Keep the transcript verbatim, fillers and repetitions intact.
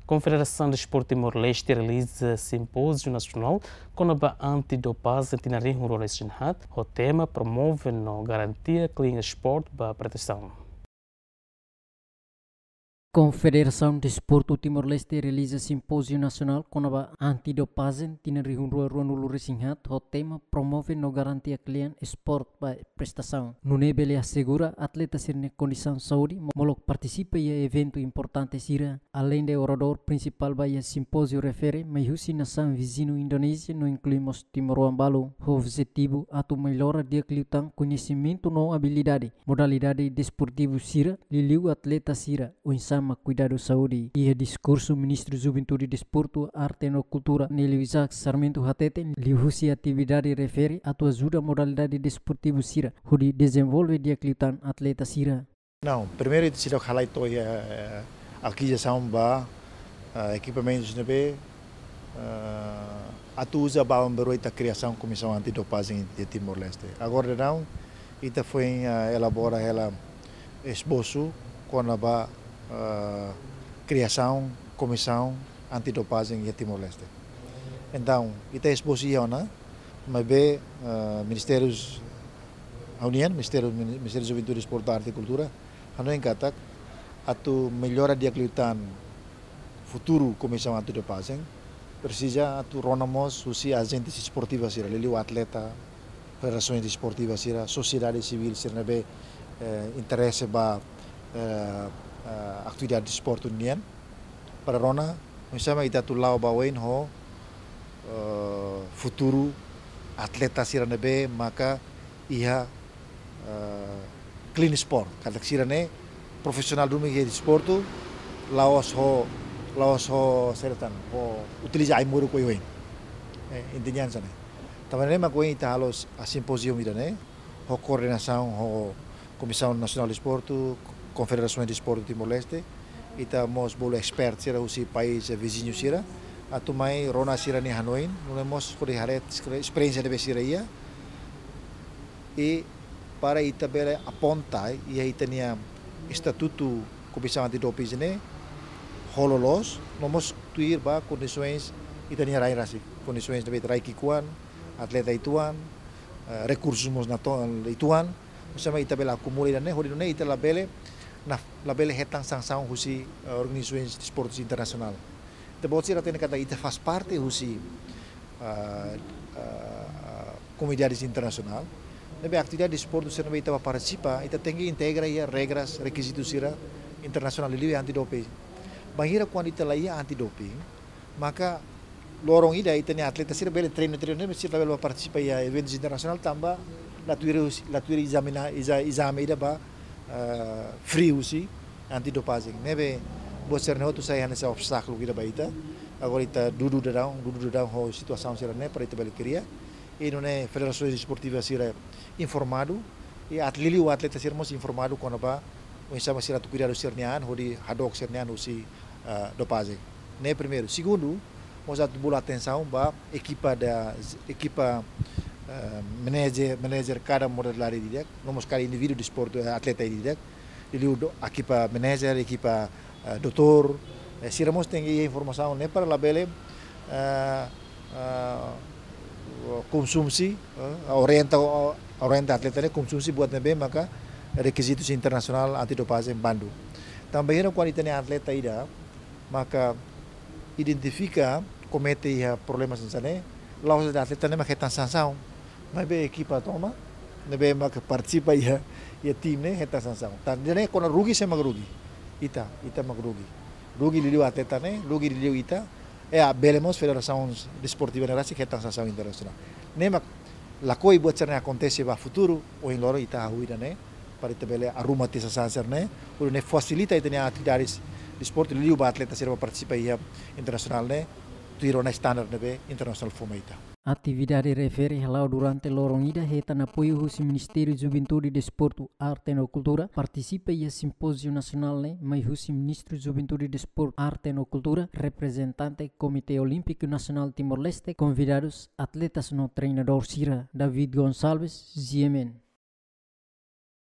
Konfederasaun Desportu Timor-Leste realiza simpóziu nasionál kona-ba antidopajen tinan rihun rua resin haat, ho tema promove no garantia klean esporte ba prestasaun. Konfederasaun Desportu Timor-Leste realiza simpóziu nasionál kona-ba antidopajen tinan rihun rua ruanulu resin haat, ho tema promove no garantia klean esporte ba prestasaun. Nune'e bele asegura atleta sira-nia kondisaun saúde mo-, molok partisipa iha eventu importante sira. Aleinde oradór prinsipál ba iha simpóziu refere mai husi nasaun viziñu Indonézia no inklui mós timoroan balu, ho objetivu atu mellora di'ak liután koñesimentu no abilidade, modalidade desportivu sira, liuliu atleta sira, oinsá mak kuidadu saúde. Iha diskursu, Ministru Juventude, Desportu, Arte no Kultura, Nelio Isaac Sarmento hateten, liuhusi atividade refere atu ajuda modalidade desportivu sira hodi dezenvolve di'ak liután atleta sira. Não, primeiru ita seidauk halai to'o iha, eh, akizasaun ba, eh, ekipamentus ne'ebé, eh, atu uza ba bainhira ita kria komisaun antidopajen iha Timor-Leste. Agora daudaun ita foin, eh, elabora hela esbosu kona-ba, eh, kriasaun komisaun antidopajen iha Timor-Leste. Entaun, ita esbosu iha ona, maibé, eh, Ministériu, ha'u-nian, Ministériu, Ministériu Juventude, Desportu, Arte e Kultura, hanoin katak atu mellora di'ak liután futuru komisaun antidopajen, presiza atu rona mós husi ajente desportivu sira, liuliu atleta, federasaun desportiva sira, sosiedade sivíl sira ne'ebé, eh, interese ba, eh, eh, atividade desportu nian, para rona oinsá mak ita atu la'o ba oin ho, eh, futuru atleta sira ne'ebé maka iha, eh, clean sport. Katak sira-ne'e profisionál duni iha desportu, la'ós ho, la'ós ho saida tan, ho utiliza ai-moruk oioin. Eh, intinya hanesan ne'e. Tanba ne'e mak ohin ita halo simpóziu ida-ne'e, ho koordenasaun ho Komisaun Nasionál Desportu, Konfederasaun Desportu Timor-Leste, ita mós bolu expert sira husi país viziñu sira, atu mai rona sira-nia hanoin, nune'e mós hodi haree esperiénsia ne'ebé sira iha, i para ita bele aponta iha ita-nia estatutu Komisaun Antidoping ne'e ho loloos, no mós tuir ba kondisoens ita-nia rai rasik, kondisoens ne'ebé rai ki'ikoan, atleta uitoan, eh, rekursus mós natoon uitoan, oinsá mak ita bele akumula ida-ne'e, hodi nune'e ita labele, na, labele hetan sansaun husi, eh, organizasoens desportu internasionál. Ita-boot sira hatene katak ita faz parte husi, ah, ah, komunidade internasionál. Ne'ebé atividade desportu sira ne'ebé ita bá partisipa, ita tenke integra iha regras, rekizitu sira internasionál, liuliu antidoping. Bainhira kuandu ita la iha antidoping, maka loron ida ita-nia atleta sira bele treinu, treinu, ne'ebé sira labele bá partisipa iha eventus internasionál tanba la tuir, la tuir ezamina, eza-, ezame ida ba, eh, free husi antidopajen. Ne'ebé buat sira-ne'e hotu sai hanesan obstákulu ida ba ita. Agora ita dudu daudaun, dudu daudaun ho situasaun sira-ne'e para ita bele kria. I nune'e federasaun desportiva sira informadu, i at-, liuliu atleta sira mós informadu kona-ba oinsá mak sira atu kuidadu sira-nia an, hodi hadook sira-nia an husi, ah, dopajen. Ne'e primeiru. Segundu, mós atu bolu atensaun ba ekipa da, ekipa, eh, manager, manager kada modalidade ida-idak, no mós kada indivíduu desportu, eh, atleta ida-idak, liuliu do-, ekipa manager, ekipa, eh, doutór, eh, sira mós tenke iha informasaun ne'e para labele, eh, eh, konsumsi, eh, orienta, orienta atleta ne'e konsumsi buat ne'ebé maka rekizitus internasionál antidopajen bandu. Tanba bainhira kuandu ita-nia atleta ida maka identifika komete iha problema hanesan ne'e, la'ós de'it atleta ne'e mak hetan sansaun, maibé ekipa tomak ne'ebé maka partisipa iha, iha tim ne'e hetan sansaun. Tan ida-ne'e kona rugi, sé mak rugi? Ita, ita mak rugi. Rugi liuliu atleta ne'e, rugi liuliu ita. I bele mós federasaun desportiva ne'e rasik hetan sansaun internasionál. Ne'e mak lakohi buat sira-ne'e akontese ba futuru, ohin loron ita hahú ida-ne'e, para ita bele arruma tiha sasán sira-ne'e, hodi nune'e fasilita ita-nia atividades desportu, liuliu ba atleta sira bá partisipa iha internasionál ne'e, tuir ona standar ne'ebé internasionál fó mai ita. Atividade refere hala'o durante loron ida hetan apoiu husi Ministériu Juventude, Desportu, Arte no Kultura, partisipa iha simpóziu nasionál ne'e mai husi Ministru Juventude, Desportu, Arte no Kultura, reprezentante Komité Olímpiku Nasionál Timor-Leste, konvidadus, atletas no treinadór sira. David Gonçalves, G M N.